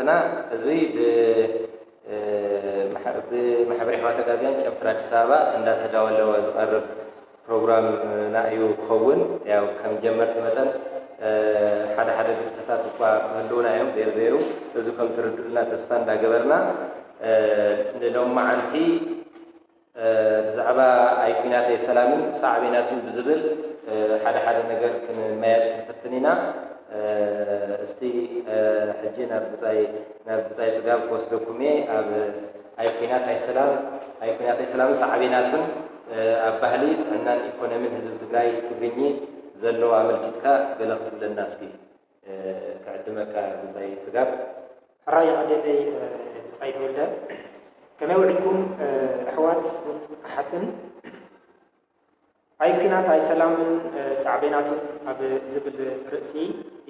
ና እዚ ብማሕበረ ሕዋት ኣጋዝያን ጨንፈር ኣዲስ ኣበባ እንዳተዳወለወ ዝቐርብ ፕሮግራምና እዩ ክኸውን። ያው ከም ጀመርቲ መጠን ሓደ ሓደ ግድፈታት እኳ ክህልውና እዮም፣ ዘይሩ ዘይሩ እዚ ከም ትርድኡልና ተስፋ እንዳገበርና ንሎማዓንቲ ብዛዕባ ኣይኩናተይ ሰላምን ሳዕቤናቱን ብዝብል ሓደ ሓደ ነገር ክንመያየጥ ክንፍትን ኢና። እስቲ ሕጂ ናብ ብጻይ ናብ ብጻይ ጽጋብ ክወስደኩም እየ። ኣብ ኣይኩናት ኣይሰላም ኣይኩናተይ ሰላምን ሳዕቤናቱን ኣብ ባህሊ፣ ጥዕናን ኢኮኖሚን ህዝቢ ትግራይ ትግርኚ ዘለዎ ኣመልኪትካ ገለ ክትብለና እስኪ። ክዕድመካ ብጻይ ጽጋብ። ሕራይ ኣደለይ ብጻይ ተወልደ። ከመይ ውዒልኩም ኣሕዋት ኣሓትን? ኣይ ኩናት ኣይ ሰላምን ሳዕቤናቱን ኣብ ዝብል ርእሲ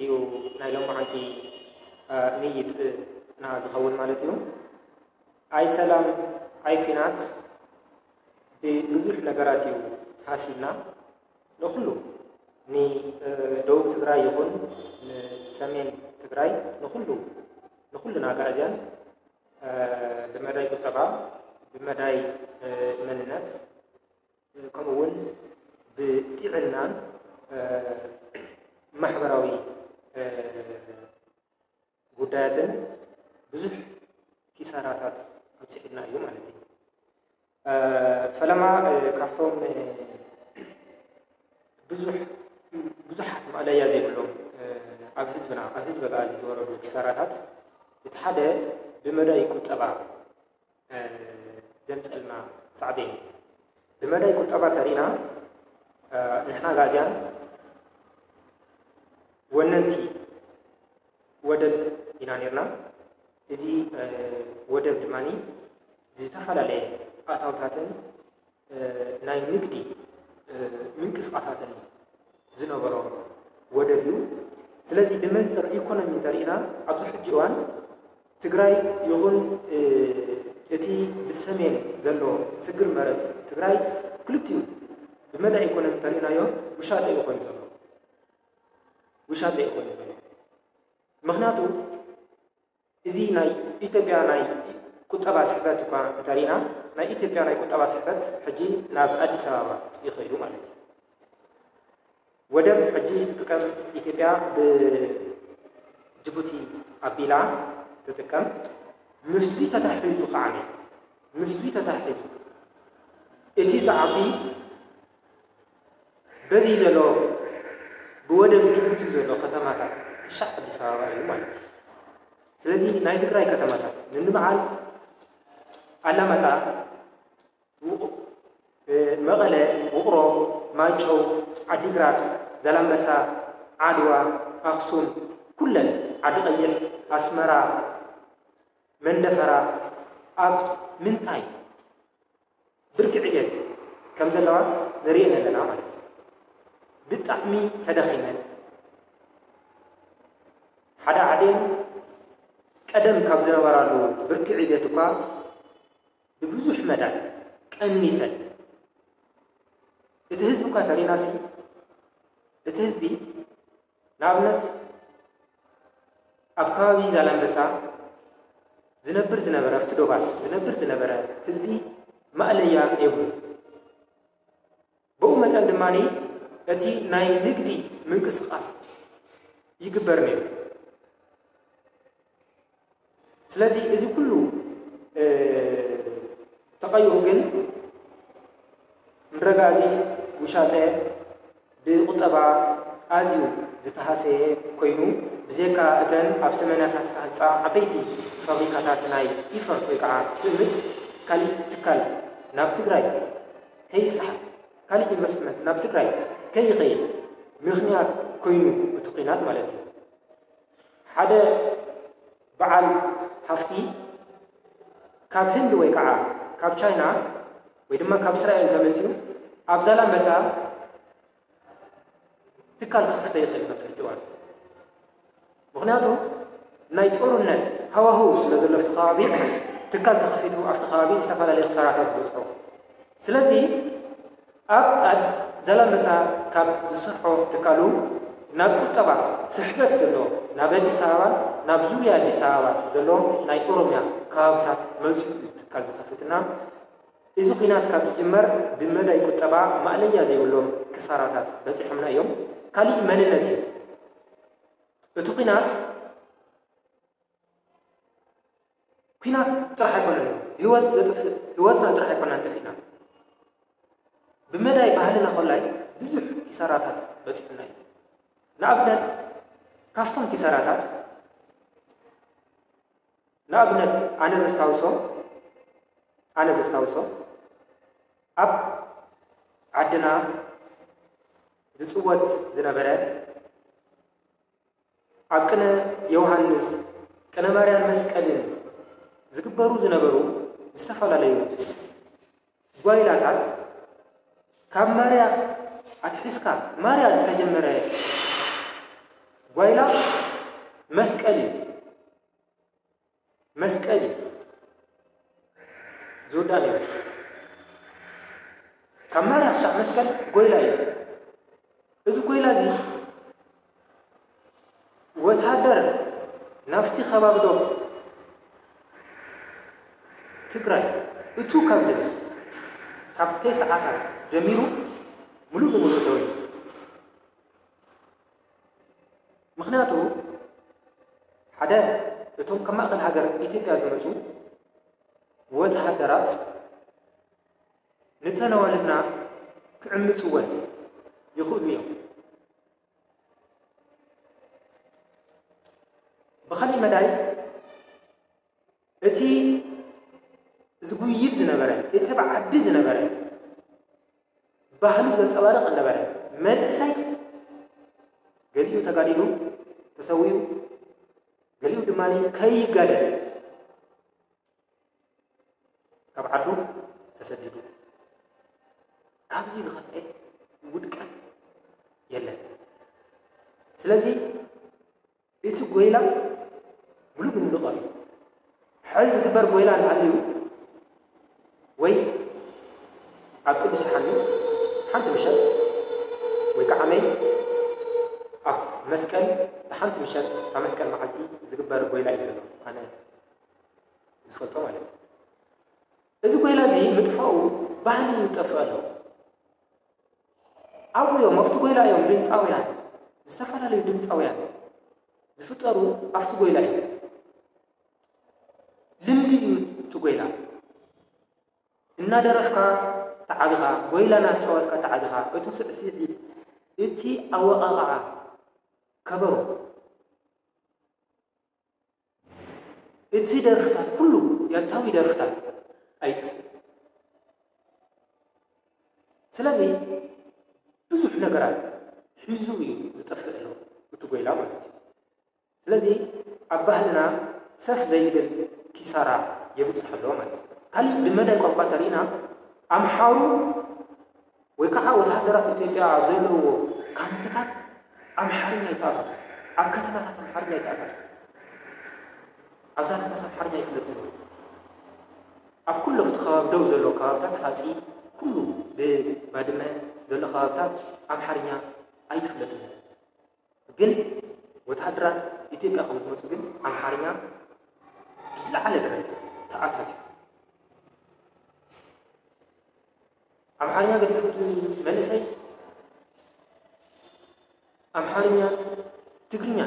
እዩ ናይ ሎማዓንቲ ምይይጥና ዝኸውን ማለት እዩ። ኣይ ሰላም ኣይ ኩናት ብብዙሕ ነገራት እዩ ተሃሲብና። ንኹሉ ንደቡብ ትግራይ ይኹን ንሰሜን ትግራይ ንኹሉ ንኹልና ኣጋእዝያን ብመዳይ ቁጠባ፣ ብመዳይ መንነት፣ ከምኡ እውን ብጥዕናን ማሕበራዊ ጉዳያትን ብዙሕ ኪሳራታት ኣብፂሑልና እዩ ማለት እዩ። ፈለማ ካብቶም ብዙሕ ብዙሓት ማእለያ ዘይብሎም ኣብ ህዝብና ኣብ ህዝቢ ኣጋዚ ዝወረዱ ኪሳራታት እቲ ሓደ ብመዳይ ቁጠባ ዘምፀልና ሳዕቤን እዩ። ብመዳይ ቁጠባ ተሪእና ንሕና ኣጋዝያን ወነንቲ ወደብ ኢና ነርና። እዚ ወደብ ድማ ዝተፈላለየ ኣታውታትን ናይ ንግዲ ምንቅስቃሳትን ዝነበሮ ወደብ እዩ። ስለዚ ብመንፅር ኢኮኖሚ እንተሪእና ኣብዚ ሕጂ እዋን ትግራይ ይኹን እቲ ብሰሜን ዘሎ ስግር መረብ ትግራይ ክልቲኡ ብመዳ ኢኮኖሚ እንተሪእናዮ ውሻጠ እዩ ኮይኑ ዘሎ። ውሻጠ እዩ ኮይኑ ዘሎ። ምክንያቱ እዚ ናይ ኢትዮጵያ ናይ ቁጠባ ስሕበት እኳ እንተሪእና ናይ ኢትዮጵያ ናይ ቁጠባ ስሕበት ሕጂ ናብ ኣዲስ ኣበባ ይኸይዱ ማለት እዩ። ወደብ ሕጂ ትጥቀም ኢትዮጵያ ብጅቡቲ ኣቢላ ትጥቀም። ምስዚ ተታሒዙ ከዓ ምስዚ ተታሒዙ እቲ ዝዓቢ በዚ ዘሎ ብወደብ ጅቡቲ ዘሎ ከተማታት ክሻዕ ኣዲስ ኣበባ እዩ ማለት እዩ። ስለዚ ናይ ትግራይ ከተማታት ንንበዓል ኣላማጣ፣ መቐለ፣ ውቕሮ፣ ማይጨው፣ ዓዲግራት፣ ዛላምበሳ፣ ዓድዋ፣ ኣኽሱም፣ ኩለን ዓዲ ቀይሕ፣ ኣስመራ፣ መንደፈራ ኣብ ምንታይ ብርኪ ዕቤት ከም ዘለዋ ንርእየን ኣለና ማለት እዩ። ብጣዕሚ ተዳኺመን ሓደ ዓዴን ቀደም ካብ ዝነበራሉ ብርኪ ዕቤት እኳ ብብዙሕ መዳይ ቀኒሰን። እቲ ህዝቢ እኳ ተሪናሲ እቲ ህዝቢ ንኣብነት ኣብ ከባቢ ዛላምበሳ ዝነብር ዝነበረ ኣብቲ ዶባት ዝነብር ዝነበረ ህዝቢ ማእለያ የብሉ። ብኡ መጠን ድማ እቲ ናይ ንግዲ ምንቅስቃስ ይግበር ነይሩ። ስለዚ እዚ ኩሉ ተቐይሩ ግን ምረጋ እዚ ውሻጠ ብቁጠባ ኣዝዩ ዝተሃሰየ ኮይኑ ብዘካ እተን ኣብ ሰመናታት ዝተሃንፃ ዓበይቲ ፋብሪካታት ናይ ኢፈርት ወይ ከዓ ትእምት ካሊእ ትካል ናብ ትግራይ ከይሰሓብ ካሊእ ኢንቨስትመንት ናብ ትግራይ ከይኸይድ ምኽንያት ኮይኑ እቲ ኩናት ማለት እዩ። ሓደ በዓል ሃፍቲ ካብ ህንድ ወይ ከዓ ካብ ቻይና ወይ ድማ ካብ እስራኤል ተመፂኡ ኣብ ዛላምበሳ ትካል ክኸፍተ ይኽእል ነበር ጅዋን። ምኽንያቱ ናይ ጦርነት ሃዋህው ስለ ዘሎ ኣብቲ ከባቢ ትካል ተኸፊቱ ኣብቲ ከባቢ ዝተፈላለዩ ክሳራታት ዝበፅሖ። ስለዚ ኣብ ዛላምበሳ ካብ ዝሰርሖ ትካሉ ናብ ቁጠባ ስሕበት ዘለዎ ናብ ኣዲስ ኣበባን ናብ ዙርያ ኣዲስ ኣበባ ዘሎ ናይ ኦሮምያ ከባብታት መሊሱ እዩ ትካል ዝኸፍትና። እዚ ኲናት ካብ ዝጅመር ብመዳይ ቁጠባ ማእለያ ዘይብሎም ክሳራታት በፂሖምና እዮም። ካሊእ መንነት እዩ። እቲ ኲናት ኲናት ጥራሕ ኣይኮነን፣ ህይወት ዘጥፍእ፣ ህይወትና ጥራሕ ኣይኮናን ጠፊእና። ብመዳይ ባህልና ኮላይ ብዙሕ ኪሳራታት በፂሑና እዩ። ንኣብነት፣ ካብቶም ኪሳራታት፣ ንኣብነት፣ ኣነ ዘስታውሶ፣ ኣነ ዘስታውሶ፣ ኣብ ዓድና ዝፅወት ዝነበረ፣ ኣብ ቅነ ዮሃንስ፣ ቅነ ማርያን መስቀልን ዝግበሩ ዝነበሩ ዝተፈላለዩ ጓይላታት፣ ካብ ማርያ ኣትሒዝካ፣ ማርያ ዝተጀመረ ጓይላ መስቀል እዩ። መስቀል እዩ ዝውዳእ ነይሩ። ካብ ማርያ ክሳዕ መስቀል ጎይላ እዩ። እዚ ጎይላ እዚ ወታደር ናብቲ ከባቢ ዶብ ትግራይ እቱ ካብ ዝብል፣ ካብ ተስዓታት ጀሚሩ ምሉእ ብምሉእ ደው ኢሉ። ምኽንያቱ፣ ሓደ፣ እቶም ካብ ማእኸል ሃገር ኢትዮጵያ ዝመፁ ወተሃደራት ንተን ኣዋልድና ክዕምፅወን ይኽእሉ እዮም። ብኻሊእ መዳይ፣ እቲ ዝጉይብ ዝነበረ፣ እቲ ብዓዲ ዝነበረ፣ ባህሉ ዘንጸባርቕ ዝነበረ መንእሰይ፣ ገሊኡ ተጋዲሉ ተሰዊኡ፣ ገሊኡ ድማ ከይጋደል ካብ ዓዱ ተሰዲዱ። ካብዚ ዝኸፍኤ ውድቀት የለን። ስለዚ እቲ ጎይላ ምሉእ ብምሉእ ቀርዩ። ሕዚ ዝግበር ጎይላ እንተሃልዩ፣ ወይ ኣብ ቅዱስ ዮሃንስ ሓንቲ ምሸት፣ ወይ ከዓ መይ ኣብ መስቀል ሓንቲ ምሸት፣ እታ መስቀል መዓልቲ ዝግበር ጎይላ እዩ ዘሎ፣ ኣነ ዝፈልጦ ማለት እዩ። እዚ ጎይላ እዚ ምጥፋኡ ባህሊ ይጠፍእ ኣሎ። ኣብኡ እዮም፣ ኣብቲ ጎይላ እዮም ድምፃውያን፣ ዝተፈላለዩ ድምፃውያን ዝፍጠሩ ኣብቲ ጎይላ እዩ። ልምዲ እዩ እቲ ጎይላ። እናደረፍካ ተዓቢኻ፣ ጎይላ እናተፃወትካ ተዓቢኻ፣ እቲ ስዕስዒት፣ እቲ ኣወቓቕዓ ከበሮ፣ እቲ ደርፍታት፣ ኩሉ ያታዊ ደርፍታት ኣይጠፍእን። ስለዚ ብዙሕ ነገራት ሒዙ እዩ ዝጠፍእ ኣሎ እቲ ጎይላ ማለት እዩ። ስለዚ ኣብ ባህልና ሰፍ ዘይብል ኪሳራ የብፅሕ ኣሎ ማለት እዩ። ካሊእ ብመዳይ ቋንቋ እንተሪእና፣ ኣምሓሩ ወይ ከዓ ወተሃደራት ኢትዮጵያ ኣብ ዘለውዎ ካምፕታት ኣምሓርኛ ይተኣታቶ፣ ኣብ ከተማታት ኣምሓርኛ ይተኣታቶ። ኣብ ዛላንበሳ ኣምሓርኛ ይፍለጥ ነይሩ። ኣብ ኩሉ ኣብቲ ከባቢ ደው ዘሎ ከባብታት ፋፂ፣ ኩሉ ብባድመ ዘሎ ከባብታት ኣምሓርኛ ኣይፍለጥን ነይሩ። ግን ወተሃደራት ኢትዮጵያ ከም ዝመፁ ግን ኣምሓርኛ ብዝለዓለ ደረጃ ተኣታትዩ። ኣምሓርኛ ገዲፉ እቲ መንእሰይ ኣምሓርኛ፣ ትግርኛ፣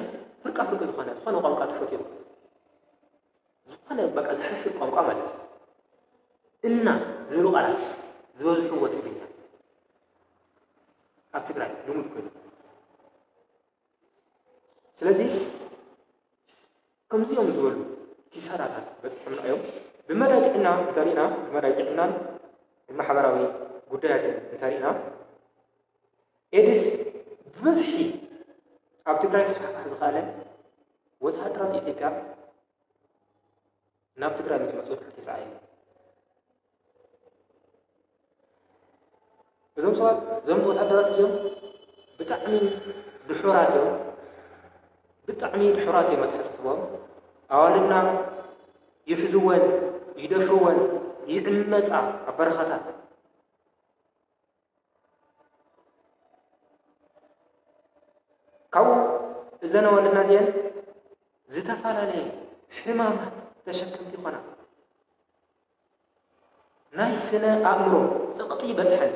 ፍርቃ ፍርቂ ዝኾነ፣ ዝኾነ ቋንቋ ተፈጢሩ። ዝኾነ በቃ ዘሕፍር ቋንቋ ማለት እዩ። እና ዝብሉ ቃላት ዝበዝሕዎ ትግርኛ ኣብ ትግራይ ልሙድ ኮይኑ። ስለዚ ከምዚኦም ዝበሉ ኪሳራታት በፂሖምና እዮም። ብመዳይ ጥዕና እንተሪእና፣ ብመዳይ ጥዕናን ማሕበራዊ ጉዳያትን እንተሪእና፣ ኤድስ ብብዝሒ ኣብ ትግራይ ክስፋሕፋሕ ዝኸኣለ ወተሃደራት ኢትዮጵያ ናብ ትግራይ ምስ መፁ ድሕሪ ተሳዒቡ። እዞም ሰባት፣ እዞም ወታደራት እዚኦም ብጣዕሚ ድሑራት እዮም። ብጣዕሚ ድሑራት እዮም ኣተሓሳስባኦም። ኣዋልድና ይሕዝወን፣ ይደፍርወን፣ ይዕመፃ ኣብ በረኻታት። ካብኡ እዘን ኣዋልድና እዚአን ዝተፈላለየ ሕማማት ተሸከምቲ ይኾና። ናይ ስነ ኣእምሮ ጸቕጢ ይበዝሐን።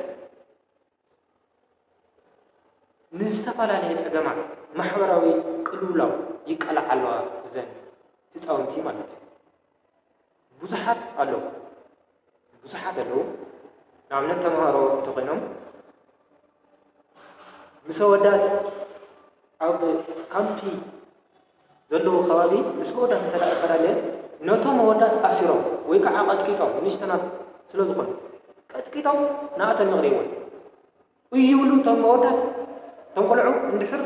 ንዝተፈላለየ ጸገማት ማሕበራዊ ቅልውላው ይቃልዓ ኣለዋ እዘን ህጻውንቲ ማለት እዩ። ብዙሓት ኣለዉ፣ ብዙሓት ኣለዉ። ንኣብነት ተምሃሮ እንተኾይኖም ምስ ኣወዳት ኣብ ካምፒ ዘለዉ ከባቢ ምስ ኣወዳት እንተ ደኣ ተፈላለየ ነቶም ኣወዳት ኣሲሮም ወይ ከዓ ቀጥቂጦም ንእሽተናት ስለ ዝኾኑ ቀጥቂጦም ንኣተን ይቕርይወን። እዩ ይብሉ እቶም መወዳት። እቶም ቆልዑ እንድሕር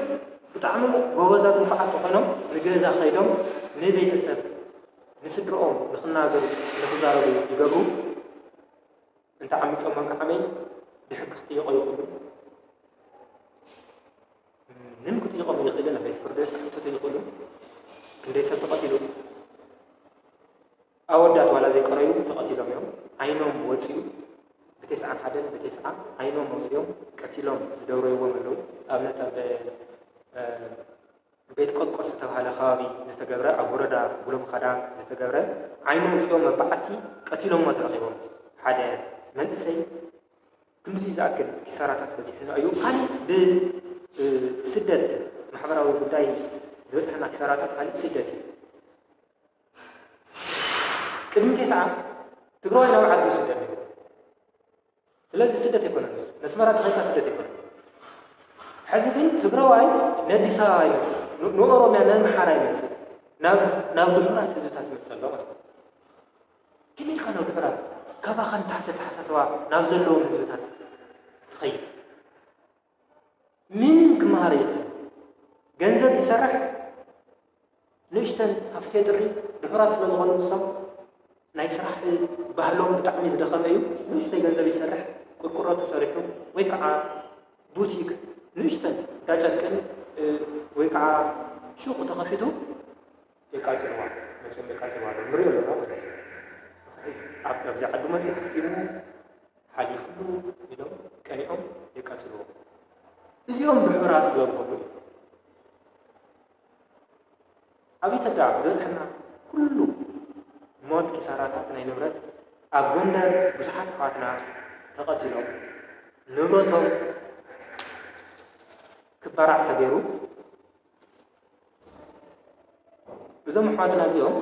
ብጣዕሚ ጎበዛት ንፉዓት ተኾይኖም ንገዛ ከይዶም ንቤተሰብ ንስድርኦም ንክናገሩ ንክዛረቡ ይገብሩ። እንተ ዓሚፆም መንከዓመይ ብሕጊ ክጥየቆ ይኽእሉ። ምንም ክጥየቆም ይኽእልን ኣብ ቤት ፍርዲ ክሕተቱ ይኽእሉ። ክንደይ ሰብ ተቐቲሉ ኣወዳት ዋላ ዘይቀረዩ ተቐቲሎም እዮም። ዓይኖም ወፂኡ ብቴስዓን ሓደን ብቴስዓ ዓይኖም ወፂኦም ቀቲሎም ዝደብረይዎም ኣለዉ። ኣብነት ኣብ ቤት ቆልቆስ ዝተባሃለ ከባቢ ዝተገብረ ኣብ ወረዳ ጉሎምኻዳ ዝተገብረ ዓይኖም ወፂኦም መባዓቲ ቀቲሎሞ ተረኺቦም ሓደ መንእሰይ ክንዲ ዝኣክል ኪሳራታት በፂሕና እዩ። ካሊእ ብስደት ማሕበራዊ ጉዳይ ዝበፅሐና ኪሳራታት ካሊእ ስደት እዩ። ቅድሚ ቴስዓ ትግራዋይ ናብ ዓዱ ይስደድ ነይሩ። ስለዚ ስደት ኣይኮነን፣ ነስመራ ተኸይድካ ስደት ኣይኮነን። ሕዚ ግን ትግራዋይ ነዲስ ኣበባ ይመፅእ፣ ንኦሮምያ ነምሓራ ይመፅእ፣ ናብ ድሑራት ህዝብታት ይመፅእ ኣሎ ማለት እዩ። ግን ኢልካ ናብ ድሑራት ካባኻ ንታሕቲ ኣተሓሳስባ ናብ ዘለዎም ህዝብታት ትኸይድ። ምንም ክመሃር ይኽእል። ገንዘብ ይሰርሕ። ንእሽተን ሃፍቴ ጥሪ ድሑራት ስለ ዝኾኑ ንሶም ናይ ስራሕ ባህሎም ብጣዕሚ ዝደኸመ እዩ። ንእሽተይ ገንዘብ ይሰርሕ፣ ቁርቁሮ ተሰሪሑ ወይ ከዓ ቡቲክ ንእሽተን እንዳ ጨርቅን ወይ ከዓ ሹቕ ተኸፊቱ የቃፅልዋ፣ መፅኦም የቃፅልዋ ንሪኦ ኣለና ማለት እዩ። ኣብዚ ዓዲ መፅኡ ሃፍቲሙ ሓሊፉሉ ኢሎም ቀኒዖም የቃፅልዎ። እዚኦም ድሑራት ዝበልኩሉ እዩ። ኣብ ኢትዮጵያ ዝበዝሐና ኩሉ ሞት፣ ኪሳራታት ናይ ንብረት ኣብ ጎንደር ብዙሓት ኣሕዋትና ተቐቲሎም ንብረቶም ክባራዕ ተገይሩ። እዞም ኣሕዋትና እዚኦም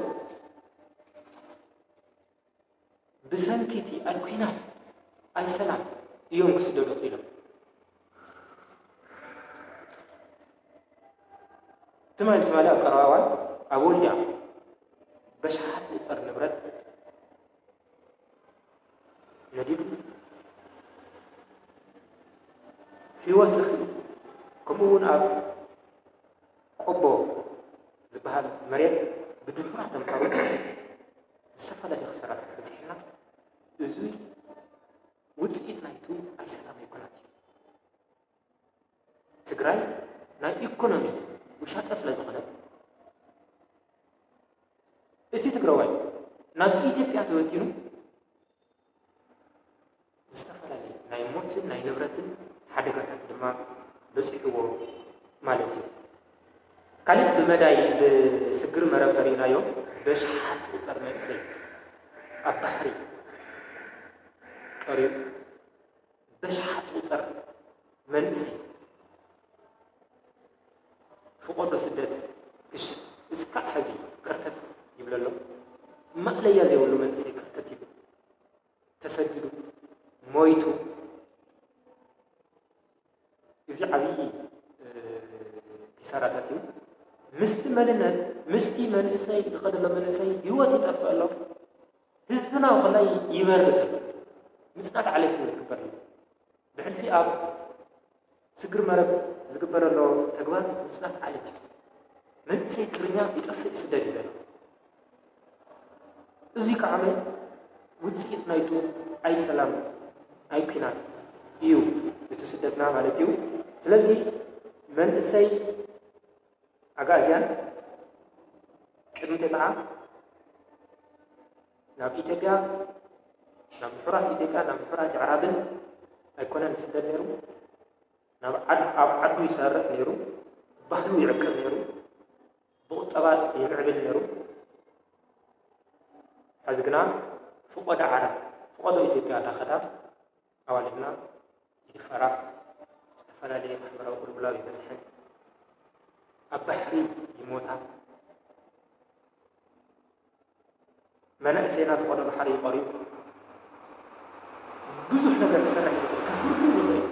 ብሰንኪ እቲ ኣይ ኲናት ኣይ ሰላም እዮም ክስደዱ ክኢሎም። ትማሊ ትማሊ ኣብ ቀረባ እዋን ኣብ ወልድያ በሽሓት ዝቑጸር ንብረት ነዲዱ ህይወት እኽሊ ከምኡ እውን ኣብ ቆቦ ዝበሃል መሬት ብድሑራት ተምሃሮ ዝተፈላለየ ክሳራታት በፂሕና። እዚ ውፅኢት ናይቱ ኣይ ሰላም ኣይኮነን። ትግራይ ናይ ኢኮኖሚ ውሻጠ ስለ ዝኾነት እቲ ትግራዋይ ናብ ኢትዮጵያ ተበቲኑ ዝተፈላለየ ናይ ሞትን ናይ ንብረትን ሓደጋታት ድማ በፂሕዎ ማለት እዩ። ካልእ ብመዳይ ብስግር መረብ ተሪእናዮ በሽሓት ዝቑፀር መንእሰይ ኣብ ባሕሪ ቀሪቡ በሽሓት ዝቑፀር መንእሰይ ፍቆዶ ስደት ክሽ እስካዕ ሕዚ ከርተት ይብለሎም። ማእለያ ዘይብሉ መንእሰይ ከርተት ይብል። ተሰዲዱ ሞይቱ። እዚ ዓብዪ ኪሳራታት እዩ። ምስቲ መንነት ምስቲ መንእሰይ ዝኸደሎ መንእሰይ ህይወት ይጠፍእ ኣሎ። ህዝብና ከላይ ይበርስ ኣሎ። ምፅናት ዓሌት እዩ ዝግበር። ብሕልፊ ኣብ ስግር መረብ ዝግበር ዘሎ ተግባር ምፅናት ዓሌት እዩ። መንእሰይ ትግርኛ ይጠፍእ ይስደድ እዩ ዘሎ። እዚ ከዓ ውፅኢት ናይቱ ኣይ ሰላም ኣይ ኲናት እዩ እቲ ስደትና ማለት እዩ። ስለዚ መንእሰይ ኣግኣዝያን ቅድሚ ተስዓ ናብ ኢትዮጵያ ናብ ምሑራት ኢትዮጵያ ናብ ምሑራት ኣዕራብን ኣይኮነን ዝስደድ ነይሩ። ናብ ዓድ ኣብ ዓዱ ይሰርሕ ነይሩ። ባህሉ ይዕቅብ ነይሩ። ብቁጠባ ይምዕብል ነይሩ። ሕዚ ግና ፍቆዶ ዓረብ ፍቆዶ ኢትዮጵያ እንዳኸዳ ኣዋልድና ይድፈራ፣ ዝተፈላለየ ማሕበራዊ ቅልውላው ይበፅሐን ኣብ ባሕሪ ይሞታ። መናእሰይና ፍቆዶ ባሕሪ ይቆርዩ። ብዙሕ ነገር ክሰርሕ ዝኽእል፣ ከፍሪ ዝኽእል፣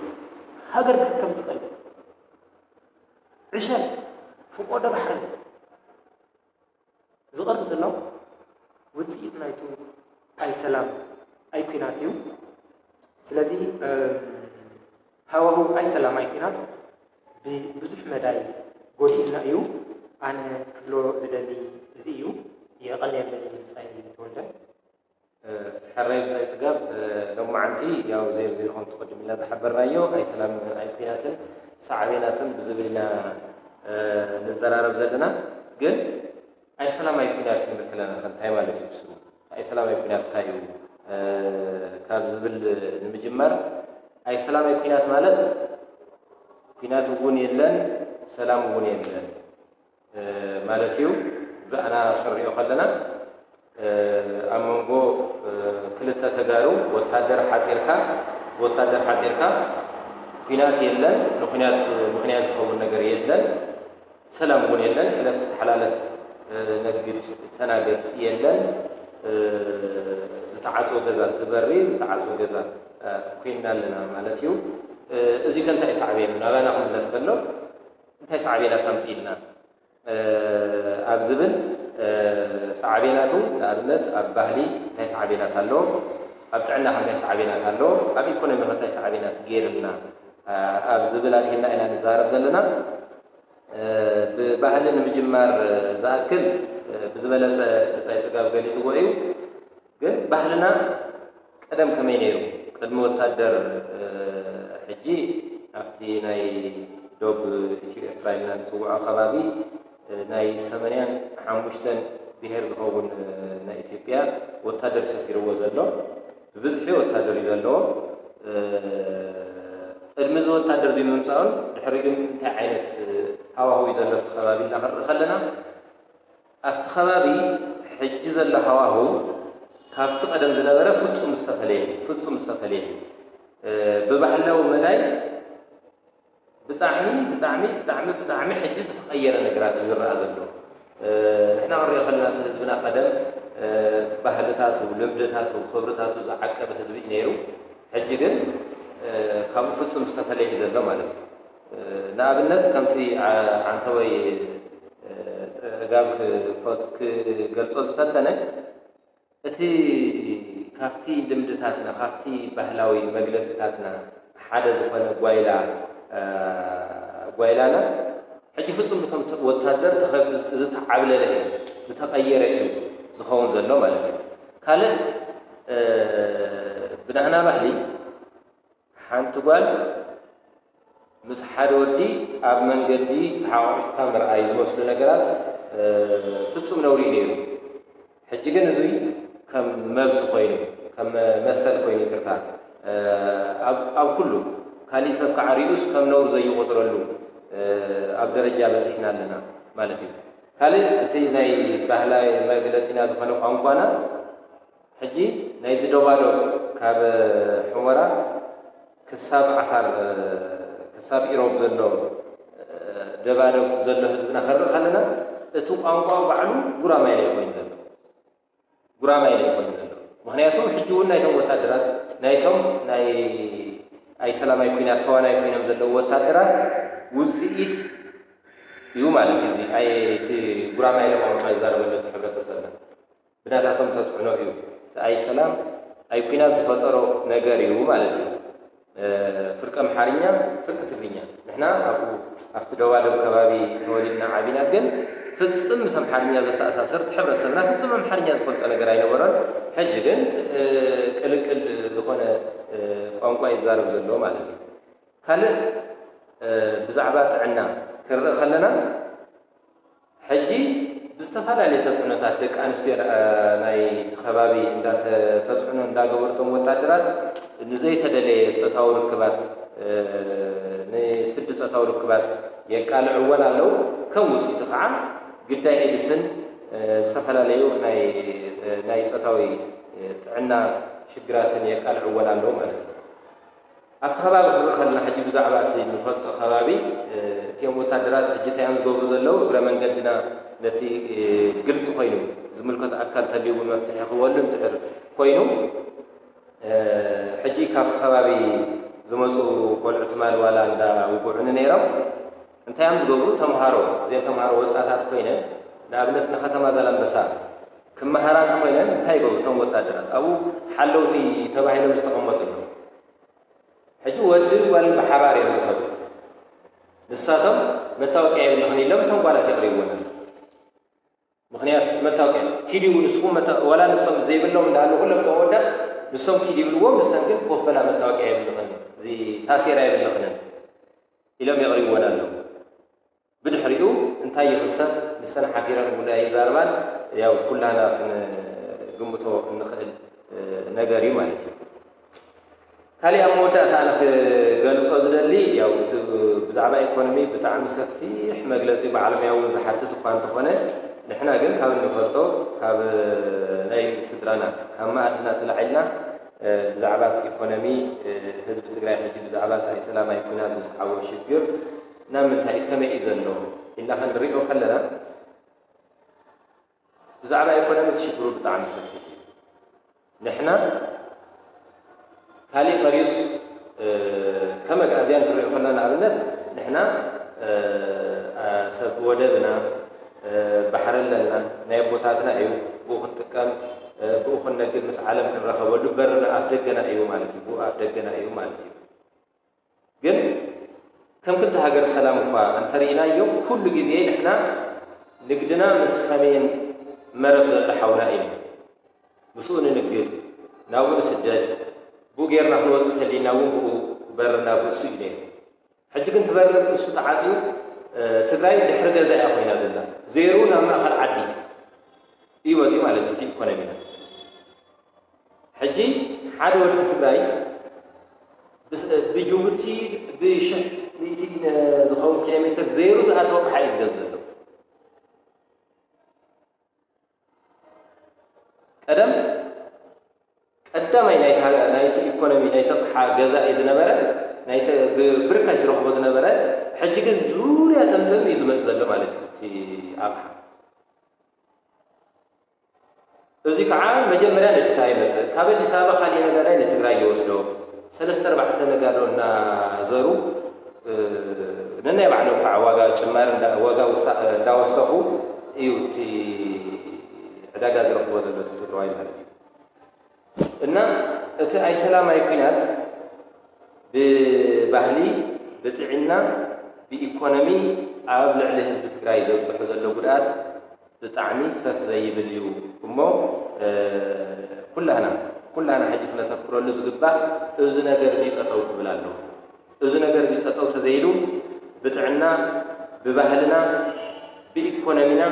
ሃገር ክርከብ ዝኽእል ዕሸል ፍቆዶ ባሕሪ ዝቐርብ ዘሎ ውፅኢት ናይቱ ኣይ ሰላም ኣይ ኲናት እዩ። ስለዚ ሃዋሁ ኣይ ሰላም ኣይ ኲናት ብብዙሕ መዳይ ጎዲእና እዩ። ኣነ ክብሎ ዝደሊ እዚ እዩ። የቐንየለይ። ብፃይ ተወልደ። ሕራይ ብፃይ ፅጋብ። ሎማዓንቲ ያው ዜር ዜር ከም ትቐድም ኢልና ዝሓበርናዮ ኣይ ሰላም ኣይ ኲናትን ሳዕቤናቱን ብዝብል ኢና ንዘራረብ ዘለና። ግን ኣይ ሰላም ኣይ ኲናት ክንብል ከለና ከ እንታይ ማለት እዩ? ብስሩ ኣይ ሰላም ኣይ ኲናት እንታይ እዩ ካብ ዝብል ንምጅማር፣ ኣይ ሰላም ኣይ ኲናት ማለት ኲናት እውን የለን፣ ሰላም እውን የለን ማለት እዩ። ብኣና ክንሪኦ ከለና ኣብ መንጎ ክልተ ተጋሩ ወታደር ሓፂርካ ወታደር ሓፂርካ ኲናት የለን፣ ንኲናት ምኽንያት ዝኸውን ነገር የለን፣ ሰላም እውን የለን። ሕለፍ ተሓላለፍ ነግድ ተናገድ የለን። ዝተዓፅወ ገዛ ትበሪ ዝተዓፅወ ገዛ ኮይንና ኣለና ማለት እዩ። እዚ ከ እንታይ ሳዕቤኑ ናባና ክምለስ ከሎ እንታይ ሳዕቤናት ኣምፅእልና ኣብ ዝብል ሳዕቤናቱ ንኣብነት ኣብ ባህሊ እንታይ ሳዕቤናት ኣሎ፣ ኣብ ጥዕና እንታይ ሳዕቤናት ኣሎ፣ ኣብ ኢኮኖሚ እንታይ ሳዕቤናት ገይርልና ኣብ ዝብል ኣድሂልና ኢና ንዛረብ ዘለና። ብባህሊ ንምጅማር ዝኣክል ብዝበለፀ ብፃይ ፅጋብ ገሊፅዎ እዩ። ግን ባህልና ቀደም ከመይ ነይሩ? ቅድሚ ወታደር ሕጂ ኣብቲ ናይ ዶብ ኢትዮ ኤርትራ ኢልና ንፅውዖ ከባቢ ናይ ሰመንያን ሓሙሽተን ብሄር ዝኸውን ናይ ኢትዮጵያ ወታደር ሰፊርዎ ዘሎ፣ ብብዝሒ ወታደር እዩ ዘለዎ። ቅድሚ እዚ ወታደር እዚ ምምፃኡን ድሕሪኡን እንታይ ዓይነት ሃዋህው እዩ ዘሎ ኣብቲ ከባቢ ኢልና ክንርኢ ከለና ኣብቲ ከባቢ ሕጂ ዘሎ ሃዋህው ካብቲ ቀደም ዝነበረ ፍጹም ዝተፈለየ ፍጹም ዝተፈለየ ብባህላዊ መዳይ ብጣዕሚ ብጣዕሚ ብጣዕሚ ብጣዕሚ ሕጂ ዝተቐየረ ነገራት እዩ ዝረኣ ዘሎ። ንሕና ክንሪኦ ከለና እቲ ህዝብና ቀደም ባህልታቱ፣ ልምድታቱ፣ ክብርታቱ ዝዓቀበ ህዝቢ እዩ ነይሩ። ሕጂ ግን ካብኡ ፍጹም ዝተፈለየ እዩ ዘሎ ማለት እዩ። ንኣብነት ከምቲ ዓንተወይ ጸጋብ ክገልጾ ዝፈተነ እቲ ካብቲ ልምድታትና ካብቲ ባህላዊ መግለጺታትና ሓደ ዝኾነ ጓይላ ጓይላና ሕጂ ፍጹም ብቶም ወታደር ዝተዓብለለ እዩ ዝተቐየረ እዩ ዝኸውን ዘሎ ማለት እዩ። ካልእ ብናህና ባህሊ ሓንቲ ጓል ምስ ሓደ ወዲ ኣብ መንገዲ ተሓቋቒፍካ ምርኣይ ዝመስሉ ነገራት ፍጹም ነውሪ እዩ ነይሩ። ሕጂ ግን እዚ ከም መብት ኮይኑ ከም መሰል ኮይኑ ይቅርታ ኣብ ኩሉ ካሊእ ሰብ ከዓ ሪኡስ ከም ነውር ዘይቆፅረሉ ኣብ ደረጃ በፂሕና ኣለና ማለት እዩ። ካልእ እቲ ናይ ባህላዊ መግለፂና ዝኾነ ቋንቋና ሕጂ ናይዚ ዶባዶብ ካብ ሑመራ ክሳብ ዓፋር ክሳብ ኢሮብ ዘሎ ደባዶብ ዘሎ ህዝብና ክንርኢ ከለና እቲ ቋንቋ ባዕሉ ጉራማይለ ኮይኑ ዘሎ ጉራማይለ ኮይኑ ዘሎ። ምክንያቱ ሕጂ እውን ናይቶም ወታደራት ናይቶም ናይ ኣይ ሰላማይ ኩናት ተዋናይ ኮይኖም ዘለዉ ወታደራት ውፅኢት እዩ ማለት እዩ። እዚ ኣይ እቲ ጉራማይለ ቋንቋ ይዛረበሉ እቲ ሕብረተሰብና ብናታቶም ተፅዕኖ እዩ። እቲ ኣይ ሰላም ኣይ ኩናት ዝፈጠሮ ነገር እዩ ማለት እዩ። ፍርቂ ኣምሓርኛ ፍርቂ ትግርኛ ንሕና ኣብኡ ኣብቲ ደባደብ ከባቢ ተወሊድና ዓቢና ግን ፍፅም ምስ ኣምሓርኛ ዘተኣሳሰር እቲ ሕብረተሰብና ፍፅም ኣምሓርኛ ዝፈልጦ ነገር ኣይነበሮን። ሕጂ ግን ቅልቅል ዝኾነ ቋንቋ ይዛረብ ዘሎ ማለት እዩ። ካልእ ብዛዕባ ጥዕና ክንርኢ ከለና ሕጂ ብዝተፈላለየ ተፅዕኖታት ደቂ ኣንስትዮ ናይቲ ከባቢ እንዳተፅዕኖ እንዳገበርቶም ወታደራት ንዘይተደለየ ፆታዊ ርክባት ንስዲ ፆታዊ ርክባት የቃልዕወን ኣለዉ። ከም ውፅኢቱ ከዓ ግዳይ ኤድስን ዝተፈላለዩ ናይ ጾታዊ ጥዕና ሽግራትን የቃልዕወን ኣለዉ ማለት እዩ። ኣብቲ ከባቢ ክንርኢ ከለና ሕጂ ብዛዕባ እቲ ንፈልጦ ከባቢ እቲኦም ወታደራት ሕጂ እንታይ እዮም ዝገብሩ ዘለዉ? እግረ መንገድና ነቲ ግልፂ ኮይኑ ዝምልከቶ ኣካል ተልዩ እውን መፍትሒ ክህበሉ እንድሕር ኮይኑ ሕጂ ካብቲ ከባቢ ዝመፁ ቆልዑ ትማል ዋላ እንዳ ውጉዕኒ ነይሮም እንታይ እዮም ዝገብሩ? ተምሃሮ እዚኦም ተምሃሮ ወጣታት ኮይነን ንኣብነት ንከተማ ዛላምበሳ ክመሃራ እንተኮይነን እንታይ ይገብሩ እቶም ወታደራት ኣብኡ ሓለውቲ ተባሂሎም ዝተቐመጡ ኣለዉ። ሕጂ ወድን ጓልን ብሓባር እዮም ዝኸዱ። ንሳቶም መታወቂያ የብልኽን ኢሎም እቶም ጓላት የቕሪብወን። ምክንያት መታወቂያ ኪድዩ ንስኹም ዋላ ንሶም ዘይብሎም እንዳሉ ኩሎም ተወዳ ንሶም ኪድ ይብልዎም ንሰን ግን ኮፈላ መታወቂያ የብልኽን እዚ ታሴራ የብልኽንን ኢሎም የቕሪብወን ኣለዉ። ብድሕሪኡ እንታይ ይኽሰት ንሰን ሓፊረን እውን ኣይዛረባን። ያው ኩላና ክንግምቶ እንኽእል ነገር እዩ ማለት እዩ። ካሊእ ኣብ መወዳእታ ኣነ ክገልፆ ዝደሊ ያው እቲ ብዛዕባ ኢኮኖሚ ብጣዕሚ ሰፊሕ መግለፂ ብዓለምያ እውን ዝሓትት እኳ እንተኾነ ንሕና ግን ካብ እንፈልጦ ካብ ናይ ስድራና ካብ መኣድና ተላዒልና ብዛዕባ እቲ ኢኮኖሚ ህዝቢ ትግራይ ሕጂ ብዛዕባ እቲ ኣይሰላማይ ኩናት ዝስዓቦ ሽግር ናብ ምንታይ ከመይ እዩ ዘሎ ኢልና ክንሪኦ ከለና ብዛዕባ ኢኮኖሚ እቲ ሽግሩ ብጣዕሚ ሰፊሕ እዩ። ንሕና ካሊእ መሪስ ከም ኣግኣዝያን ክንሪኦ ከለና ንኣብነት ንሕና ሰብ ወደብና ባሕሪ ኣለና ናይ ኣቦታትና እዩ ብኡ ክንጥቀም ብኡ ክንነግድ ምስ ዓለም ክንረኸበሉ በርና ኣፍ ደገና እዩ ማለት እዩ ብኡ ኣፍ ደገና እዩ ማለት እዩ። ግን ከም ክልተ ሃገር ሰላም እኳ እንተርኢናዮ ኩሉ ግዜ ንሕና ንግድና ምስ ሰሜን መረብ ዘሎ ሓውና እዩ። ምስኡ ንንግድ ናብኡ ንስደድ ብኡ ጌርና ክንወፅእ ተሊና እውን ብኡ በርና ብእሱ እዩ ነይሩ። ሕጂ ግን ትበርር እሱ ተዓፅዩ ትግራይ ድሕሪ ገዛ እያ ኮይና ዘላ ዜሩ ናብ ማእኸል ዓዲ እዩ መፅኡ ማለት እቲ ኢኮኖሚና ሕጂ ሓደ ወዲ ትግራይ ብጅቡቲ ብሽሕ ሚእቲ ዝኸውን ኪሎ ሜትር ዜሩ ዝኣተወ ኣቕሓ እዩ ዝገዝእ ዘሎ። ቀደም ቀዳማይ ናይቲ ኢኮኖሚ ናይቲ ኣቕሓ ገዛኢ ዝነበረ ብርካሽ ዝረኽቦ ዝነበረ ሕጂ ግን ዙርያ ጥምጥም እዩ ዝመፅእ ዘሎ ማለት እዩ እቲ ኣቕሓ። እዚ ከዓ መጀመርያ ንኣዲስ ኣበባ ይመፅእ። ካብ ኣዲስ ኣበባ ካሊእ ነጋዳይ ንትግራይ ይወስዶ። ሰለስተ ኣርባዕተ ነጋዶ እናዘሩ ነናይ ባዕሎም ከዓ ዋጋ ጭማሪ ዋጋ እንዳወሰኹ እዩ እቲ ዕዳጋ ዝረኽቦ ዘሎ እቲ ትግራዋይ ማለት እዩ። እና እቲ ኣይሰላማይ ኩናት ብባህሊ ብጥዕና ብኢኮኖሚ ኣብ ልዕሊ ህዝቢ ትግራይ ዘብፅሑ ዘሎ ጉድኣት ብጣዕሚ ሰፍ ዘይብል እዩ እሞ ኩላህና ኩላህና ሕጂ ክነተኩረሉ ዝግባእ እዚ ነገር እዚ ጠጠው ክብል ኣለዎ። እዚ ነገር እዚ ጠጠው ተዘይሉ ብጥዕና ብባህልና ብኢኮኖሚና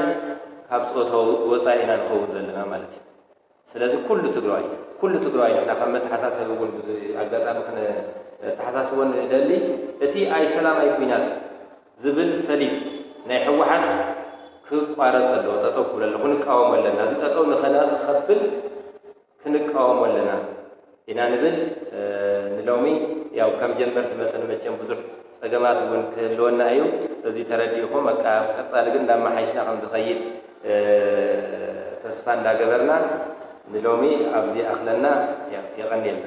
ካብ ፆታዊ ወፃኢ ኢና ንኸውን ዘለና ማለት እዩ። ስለዚ ኩሉ ትግራዋይ ኩሉ ትግራዋይ ንሕና ካብ መተሓሳሰቢ እውን ኣጋጣሚ ክነተሓሳስቦ ንደሊ እቲ ኣይሰላማይ ኩናት ዝብል ፈሊጥ ናይ ህወሓት ክቋረፅ ኣለዎ። ጠጠው ክብል ኣለዎ። ክንቃወሞ ኣለና። እዚ ጠጠው ንኸነኸብል ክንቃወሞ ኣለና ኢና ንብል። ንሎሚ ያው ከም ጀመርቲ መጠን መቸም ብዙሕ ፀገማት እውን ክህልወና እዩ። እዚ ተረዲእኹም በቃ ቀፃሊ ግን እንዳመሓይሽና ከም ዝኸይድ ተስፋ እንዳገበርና ንሎሚ ኣብዚ ኣኽለና። የቐንየልና።